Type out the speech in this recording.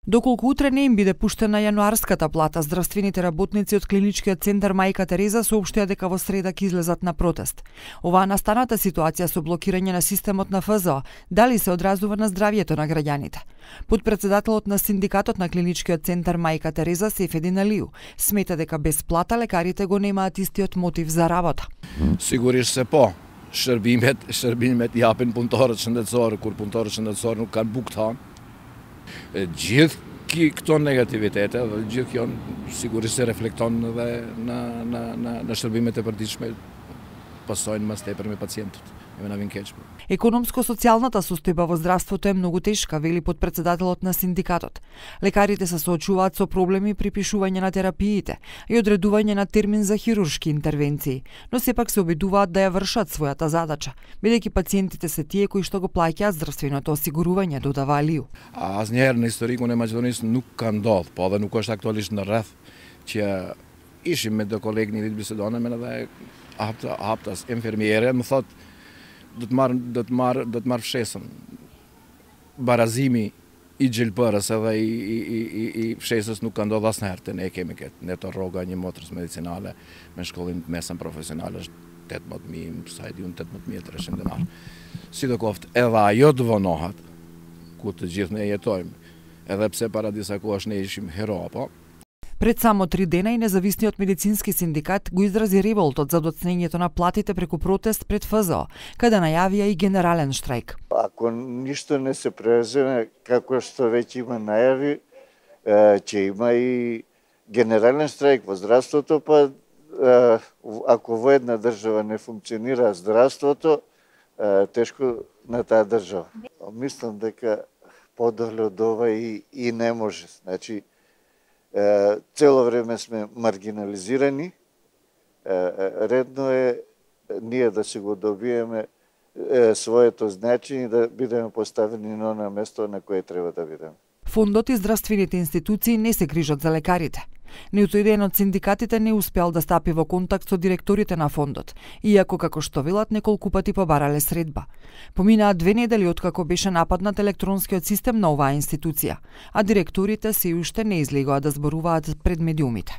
Доколку утре не им биде пуштена јануарската плата, здравствените работници од клиничкиот центар Мајка Тереза соопштија дека во среда ќе излезат на протест. Оваа настаната ситуација со блокирање на системот на ФЗО дали се одразува на здравјето на граѓаните? Подпредседателот на синдикатот на клиничкиот центар Мајка Тереза Сефедин Алију смета дека без плата лекарите го немаат истиот мотив за работа. Sigurisht se po, shërbimet japin punëtorët shëndetësorë, kur punëtorët shëndetësorë nuk kanë bukë të hanë. Gjithë këto negativitete dhe gjithë kjo sigurisht se reflekton edhe në shërbimet e përditshme, pasojnë mas tepër me pacientët. Економско-социјалната состојба во здравството е многу тешка, вели подпредседателот на синдикатот. Лекарите се соочуваат со проблеми при пишување на терапиите и одредување на термин за хируршки интервенции, но сепак се обидуваат да ја вршат својата задача, бидејќи пациентите се тие кои што го плаќаат здравственото осигурување, додава Алију. Asnjëherë në historikun e Maqedonisë nuk ka ndodhur, po edhe nuk është aktualisht në rreth që ishim me do kolegë një ditë bisedonem edhe haptas infermiere më thotë do të marr fshesën. Barazimi i gjelbërës edhe i fshesës nuk ka ndodhur asnjëherë, ne kemi këtë. Ne të rroga një motrës medicinale me shkollim të mesëm profesional është 18.000, sa e di unë 18.300 dinar. Sidoqoftë edhe ajo të vonohat, ku të gjithë ne jetojmë, edhe pse para disa kohësh ne ishim hero, po. Пред само 3 дена и независниот медицински синдикат го изрази револтот за доцнењето на платите преку протест пред ФЗО, каде најавија и генерален штрајк. Ако ништо не се преземе, како што веќе има најави, ќе има и генерален штрајк во здравството, па ако во една држава не функционира здравството, тешко на таа држава. Мислам дека подоле од ова и не може. Значи, цело време сме маргинализирани, редно е ние да си го добиеме своето значење и да бидеме поставени на оно место на кое треба да бидеме. Фондот и здравствените институции не се грижат за лекарите. Ниту еден од синдикатите не успеал да стапи во контакт со директорите на фондот, иако како што велат неколку пати побарале средба. Поминаа 2 недели откако беше нападнат електронскиот систем на оваа институција, а директорите се уште не излегоа да зборуваат пред медиумите.